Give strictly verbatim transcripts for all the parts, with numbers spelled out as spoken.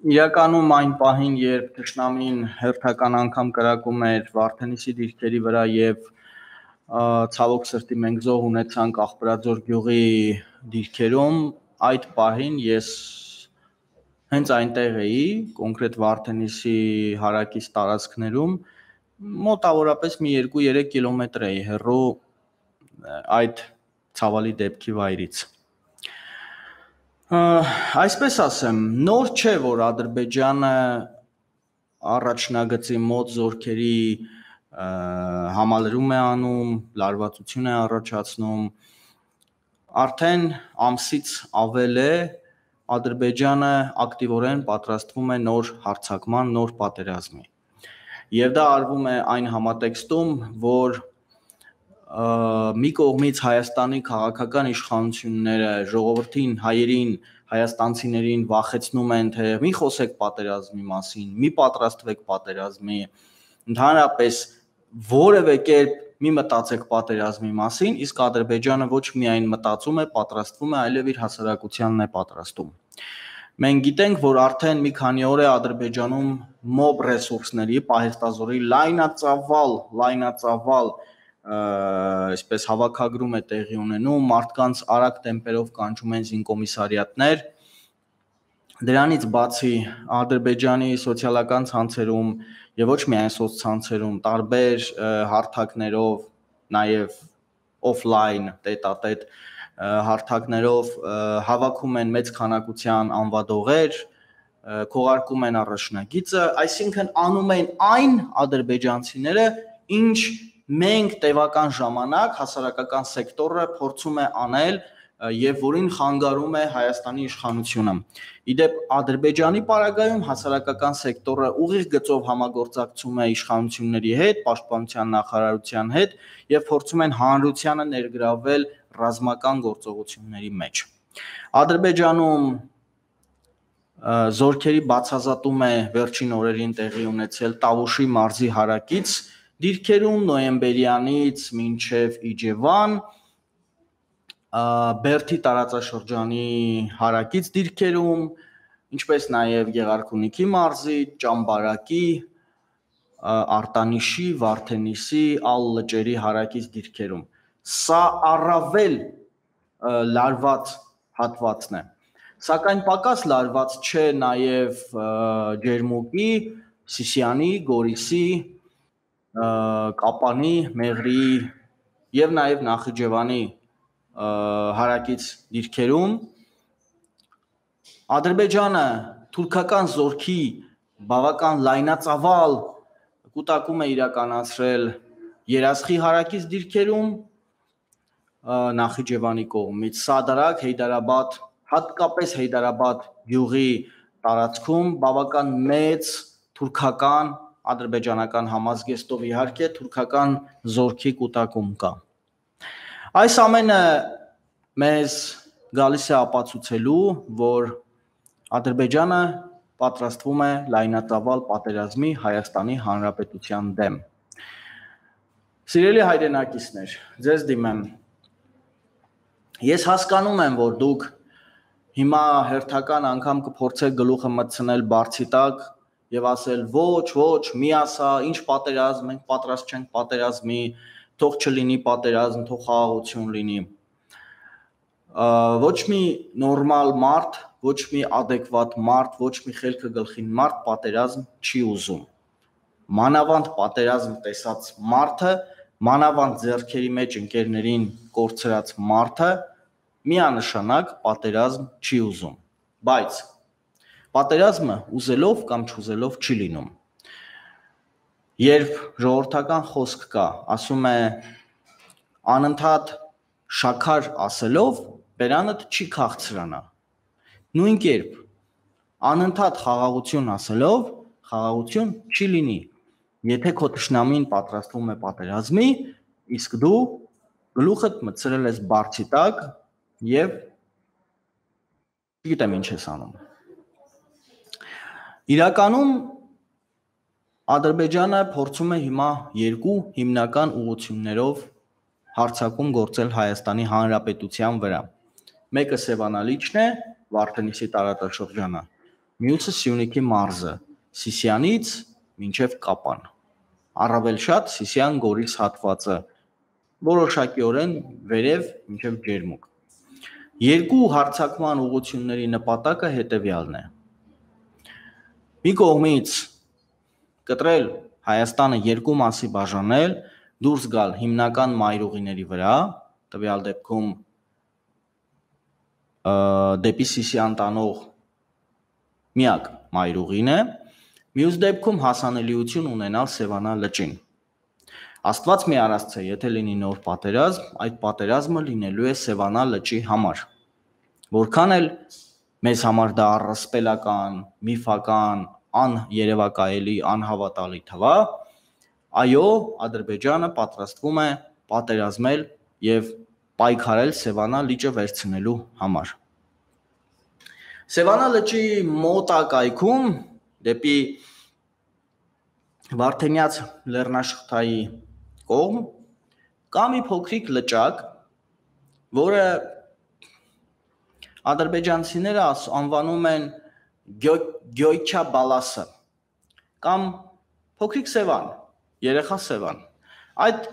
Իրականում այն պահին, երբ թշնամին հերթական անգամ կրակում էր Վարդենիսի դիրքերի վրա եւ ցավոք սրտի մենք զոհ ունեցանք Աղբրաձոր գյուղի դիրքերում, այդ պահին ես հենց այնտեղ էի, կոնկրետ Վարդենիսի հարակից տարածքներում, մոտավորապես մի երկու երեք կիլոմետր էի հեռու այդ ցավալի դեպքի վայրից։ Այսպես ասեմ, նոր չէ, որ Ադրբեջանը առաջնագծի մոտ զորքերի համալրում է անում, լարվածություն է առաջացնում, արդեն ամսից ավել է Ադրբեջանը ակտիվորեն պատրաստվում է նոր հարձակման, նոր պատերազմի։ Եվ դա արվում է այն համատեքստում, որ մի կողմից Հայաստանի քաղաքական իշխանությունները ժողովրդին, հայերին, հայաստանցիներին վախեցնում են, թե մի խոսեք պատերազմի մասին, մի պատրաստվեք պատերազմի, ընդհանրապես որևէ կերպ մի մտածեք պատերազմի մասին, իսկ Ադրբեջանը ոչ միայն մտածում է, պատրաստվում է, այլև իր հասարակությանն է պատրաստում։ Մենք գիտենք, որ արդեն մի քանի օր է Ադրբեջանում մոբ ռեսուրսների, պահեստազորի լայնածավալ, լայնածավալ այսպես հավաքագրում է տեղի ունենում, մարդկանց արագ տեմպերով կանչում են զինկոմիսարիատներ։ Դրանից բացի Ադրբեջանի սոցիալական ցանցերում եւ ոչ միայն սոցցանցերում, տարբեր հարթակներով, նաեւ օֆլայն, տետատետ հարթակներով հավաքում են մեծ քանակության անվադողեր, քողարկում են առաջնագիծը, այսինքն անում են այն ադրբեջանցիները, ինչ մենք տևական ժամանակ հասարակական սեկտորը փորձում է անել եւ որին խանգարում է Հայաստանի իշխանությունը։ Իդեպ Ադրբեջանի պարագայում հասարակական սեկտորը ուղիղ գծով համագործակցում է իշխանությունների հետ, պաշտպանության նախարարության հետ եւ փորձում են հանրությանը ներգրավել ռազմական գործողությունների մեջ։ Ադրբեջանում զորքերի բացազատում է վերջին օրերին տեղի ունեցել Տավուշի մարզի հարակից դիրքերում նոյեմբերյանից մինչև Իջևան, Բերդի տարածաշրջանի հարակից դիրքերում, ինչպես նաև Գեղարքունիքի մարզի, Ճամբարակի, Արտանիշի, Վարդենիսի, Ալ լճերի հարակից դիրքերում։ Սա առավել լարված հատվածն է, սակայն պակաս լարված չէ նաև Ջերմուկի, Սիսիանի, Գորիսի, Կապանի, Մեղրիի եւ նաեւ Նախիջևանի հարակից դիրքերում Ադրբեջանը թուրքական զորքի բավական լայնածավալ կուտակում է իրականացրել Երասխի հարակից դիրքերում Նախիջևանի կողմից Սադարակ, Հեյդարաբադ, հատկապես Հեյդարաբադ գյուղի տարածքում բավական մեծ թուրքական ադրբեջանական համազգեստով իհարկե թուրքական զորքի կուտակում կա։ Այս ամենը մեզ գալիս է ապացուցելու, որ Ադրբեջանը պատրաստվում է լայնածավալ պատերազմի Հայաստանի Հանրապետության դեմ։ Սիրելի հայրենակիցներ, ձեզ դիմեմ։ Ես հասկանում եմ, որ դուք հիմա հերթական անգամ կփորձեք գլուխը մտցնել բարձի տակ եւ ասել ոչ, ոչ, մի ասա, ինչ պատերազմ, մենք պատրաստ չենք պատերազմի, թող չլինի պատերազմ, թող խաղաղություն լինի։ Ոչ մի նորմալ մարդ, ոչ մի adekvat մարդ, ոչ մի խելքը գլխին մարդ պատերազմ չի ուզում։ Մանավանդ պատերազմ տեսած մարդը, մանավանդ ձեռքերի մեջ ընկերներին կորցրած մարդը միանշանակ պատերազմ չի ուզում, բայց պատերազմը ուզելով կամ չուզելով չի լինում։ Երբ ժողովրդական խոսք կա, ասում է անընդհատ շաքար ասելով բերանդ չի քաղցրանա։ Նույն կերպ անընդհատ խաղաղություն ասելով խաղաղություն չի լինի։ Եթե քո թշնամին պատրաստվում է պատերազմի, իսկ դու գլուխդ մտցրել ես բարձի տակ եւ չգիտեմ ինչ ես անում։ Իրականում Ադրբեջանը փորձում է հիմա երկու հիմնական ուղղություններով հարձակում գործել Հայաստանի Հանրապետության վրա։ Մեկը Սևանալիչն է, Վարդենիսի տարածաշրջանը, մյուսը Սյունիքի մարզը, Սիսյանից մինչև Կապան, առավել շատ Սիսյան Գորիս հատվածը, որոշակիորեն վերև մինչև Ջերմուկ։ Երկու հարձակման ուղղությունների նպատակը հետևյալն է. մի կողմից կտրել Հայաստանը երկու մասի բաժանել, դուրս գալ հիմնական մայրուղիների վրա, տվյալ դեպքում դեպի Սիսյան տանող միակ մայրուղին է, մյուս դեպքում հասանելիություն ունենալ Սևանա լճին։ Աստված մի արասցե, եթե լինի նոր պատերազմ, այդ պատերազմը լինելու է Սևանա լճի համար։ Որքան էլ մեզ համար դա առասպելական, միֆական, աներևակայելի, անհավատալի թվա, այո, Ադրբեջանը պատրաստվում է պատերազմել եւ պայքարել Սևանա լիճը վերցնելու համար։ Սևանա լճի մոտակայքում դեպի Վարդենյաց լեռնաշղթայի կողմ կա մի փոքրիկ լճակ, որը ադրբեջանցիները անվանում են Գյոյչա Բալասը կամ փոքրիկ Սևան, երեխա Սևան։ Այդ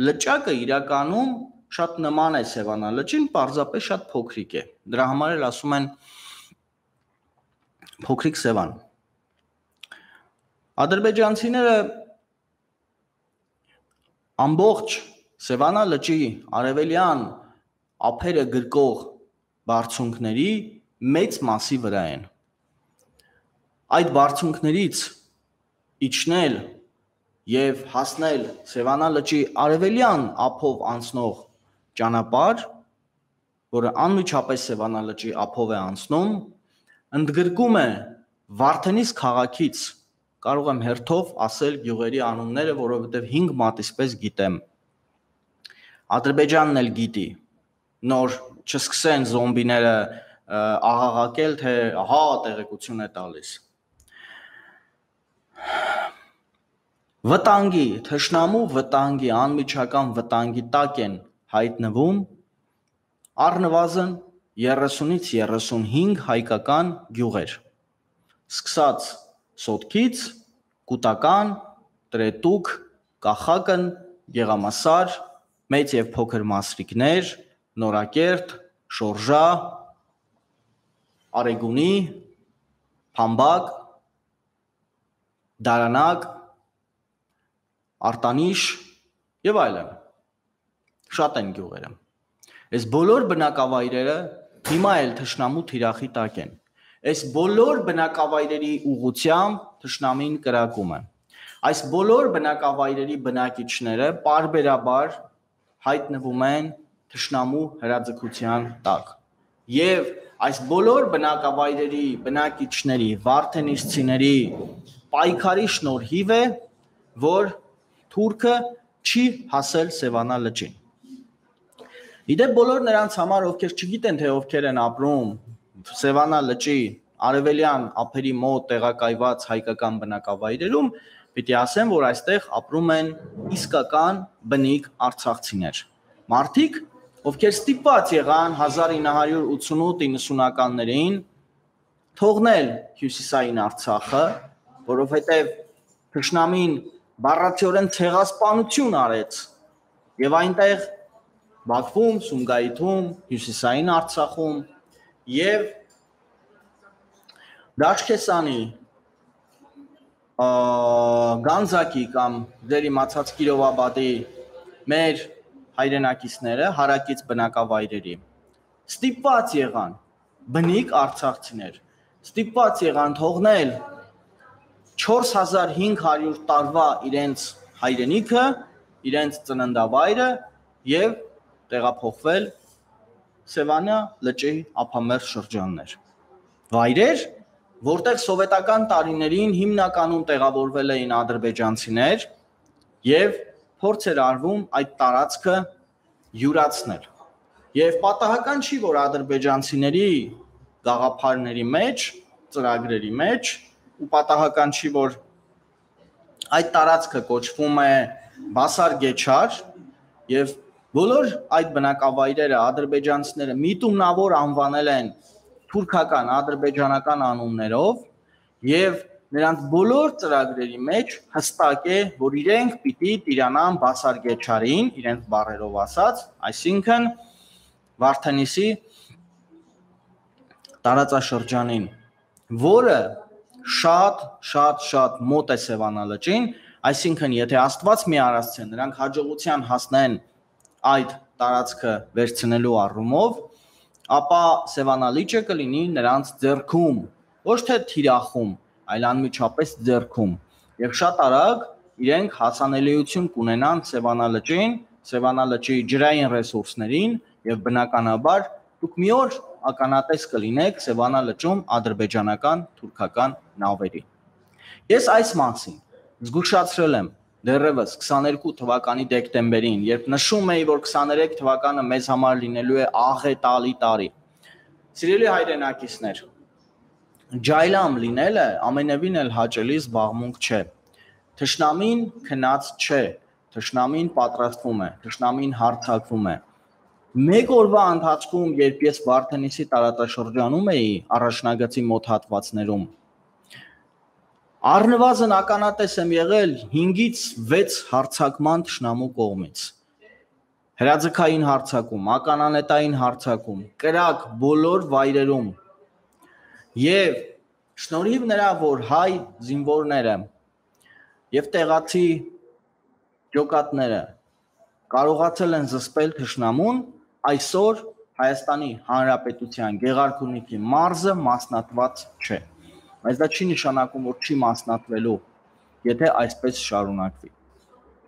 լճակը իրականում շատ նման է Սևանա լճին, պարզապես շատ փոքրիկ է։ Դրա համար էլ ասում են փոքրիկ Սևան։ Ադրբեջանցիները ամբողջ Սևանա լճի արևելյան ափերը գրկող բարձունքների մեծ մասի վրա են։ Այդ բարձունքներից իջնել եւ հասնել Սևանա լճի արևելյան ափով անցնող ճանապարհ, որը անմիջապես Սևանա լճի ափով է անցնում, ընդգրկում է Վարդենիս քաղաքից, կարող եմ հերթով ասել գյուղերի անունները, որովհետև հինգ մատիսպես գիտեմ։ Ադրբեջանն էլ գիտի, նոր չսկսեն զոմբիները աղաղակել, թե ահա տեղեկություն է տալիս։ Վտանգի, թշնամու վտանգի, անմիջական վտանգի տակ են հայտնվում առնվազն երեսունից երեսունհինգ հայկական գյուղեր, սկսած Սոտքից, Կուտական, Տրետուկ, Կախակն, Գեղամասար, մեծ եւ փոքր Մասրիկներ, Նորակերտ, Շորժա, Արեգունի, Փամբակ, Դարանակ, Արտանիշ եւ այլն։ Շատ են գյուղերը։ Այս բոլոր բնակավայրերը հիմա էլ թշնամու թիրախի տակ են։ Այս բոլոր բնակավայրերի ուղղությամբ թշնամին կրակում է։ Այս բոլոր բնակավայրերի բնակիչները պարբերաբար հայտնվում են թշնամու հրաձգության տակ։ Եվ այս բոլոր բնակավայրերի բնակիչների, վարդենիսցիների պայքարի շնորհիվ է, որ թուրքը չի հասել Սևանա լճին։ Իդեպ բոլոր նրանց համար, ովքեր չգիտեն, թե ովքեր են ապրում Սևանա լճի արևելյան ափերի մոտ տեղակայված հայկական բնակավայրերում, պիտի ասեմ, որ այստեղ ապրում են իսկական բնիկ արցախցիներ։ Մարդիկ, ովքեր ստիպված եղան հազար ինը հարյուր ութսունութ իննսունականներին թողնել հյուսիսային Արցախը, որովհետև թշնամին բառացիորեն ցեղասպանություն արեց եւ այնտեղ Բաքվում, Սումգայիթում, հյուսիսային Արցախում եւ Դաշկեսանի, Գանձակի կամ դեր իմացած Կիրովաբադի մեր հայրենակիցները հարակից բնակավայրերի ստիպված եղան բնիկ արցախցիներ, ստիպված եղան թողնել չորս հազար հինգ հարյուր տարվա իրենց հայրենիքը, իրենց ծննդավայրը եւ տեղափոխվել Սևանա լճի ափամերձ շրջաններ։ Վայրեր, որտեղ սովետական տարիներին հիմնականում տեղավորվել էին ադրբեջանցիներ եւ փորձ էր արվում այդ տարածքը յուրացնել։ Եվ պատահական չի, որ ադրբեջանցիների գաղափարների մեջ, ծրագրերի մեջ, ու պատահական չի, որ այդ տարածքը կոչվում է Բասար Գեչար եւ բոլոր այդ բնակավայրերը ադրբեջանցիները միտումնավոր անվանել են թուրքական, ադրբեջանական անուններով եւ նրանց բոլոր ծրագրերի մեջ հստակ է, որ իրենք պիտի տիրանան բասարգեչարին, իրենց բառերով ասած, այսինքն Վարդենիսի տարածաշրջանին, որը շատ, շատ, շատ մոտ է Սևանալճին, այսինքն եթե Աստված մի արարած է, նրանք հաջողության հասնեն այդ տարածքը վերցնելու առումով, ապա Սևանալիճը կլինի նրանց ձեռքում, ոչ թե թիրախում, այլ անմիջապես ձեռքում, եւ շատ արագ իրենք հասանելիություն կունենան Սևանալճին, Սևանալճի ջրային ռեսուրսներին եւ բնականաբար դուք մի օր ականատես կլինեք Սևանալճում ադրբեջանական, թուրքական նավերի։ Ես այս մասին զգուշացրել եմ դեռևս քսաներկու թվականի դեկտեմբերին, երբ նշում էի, որ քսաներեք թվականը մեզ համար լինելու է աղետալի տարի։ Սիրելի հայրենակիցներ, ջայլամ լինելը ամենևին էլ հաճելի զբաղմունք չէ։ Թշնամին քնած չէ, թշնամին պատրաստվում է, թշնամին հարձակվում է։ Մեկ օրվա ընթացքում, երբ ես Վարդենիսի տարածաշրջանում էի առաջնագծի մոտ հատվածներում, առնվազն ականատես եմ եղել հինգից վեց հարձակման թշնամու կողմից։ Հրաձգային հարձակում, ականանետային հարձակում, կրակ բոլոր վայրերում։ Եվ շնորհիվ նրա, որ հայ զինվորները եւ տեղացի ջոկատները կարողացել են զսպել թշնամուն, այսօր Հայաստանի Հանրապետության Գեղարքունիքի մարզը մասնատված չէ։ Բայց դա չի նշանակում, որ չի մասնատվելու, եթե այսպես շարունակվի։